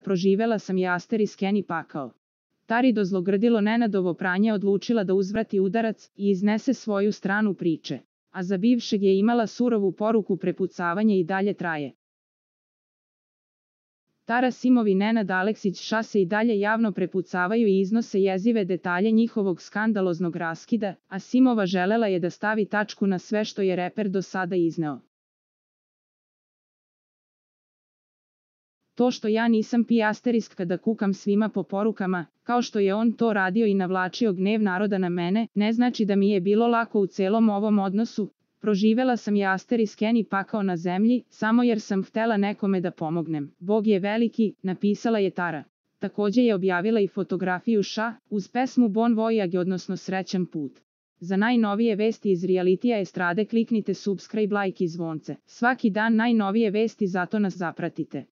proživela sam je Asteris Kenny pakao. Tari do zlogrdilo Nenadovo pranje odlučila da uzvrati udarac i iznese svoju stranu priče, a za bivšeg je imala surovu poruku prepucavanje i dalje traje. Tara simovi Nenad Aleksić ša se i dalje javno prepucavaju i iznose jezive detalje njihovog skandaloznog raskida, a Simova želela je da stavi tačku na sve što je reper do sada izneo. To što ja nisam pijasterisk kada kukam svima po porukama, kao što je on to radio i navlačio gnjev naroda na mene, ne znači da mi je bilo lako u celom ovom odnosu. Proživela sam je Asteris Kenny pakao na zemlji, samo jer sam htela nekome da pomognem. Bog je veliki, napisala je Tara. Takođe je objavila i fotografiju ša, uz pesmu Bon Voyage odnosno Srećan put. Za najnovije vesti iz realitija estrade kliknite subscribe, like i zvonce. Svaki dan najnovije vesti, zato nas zapratite.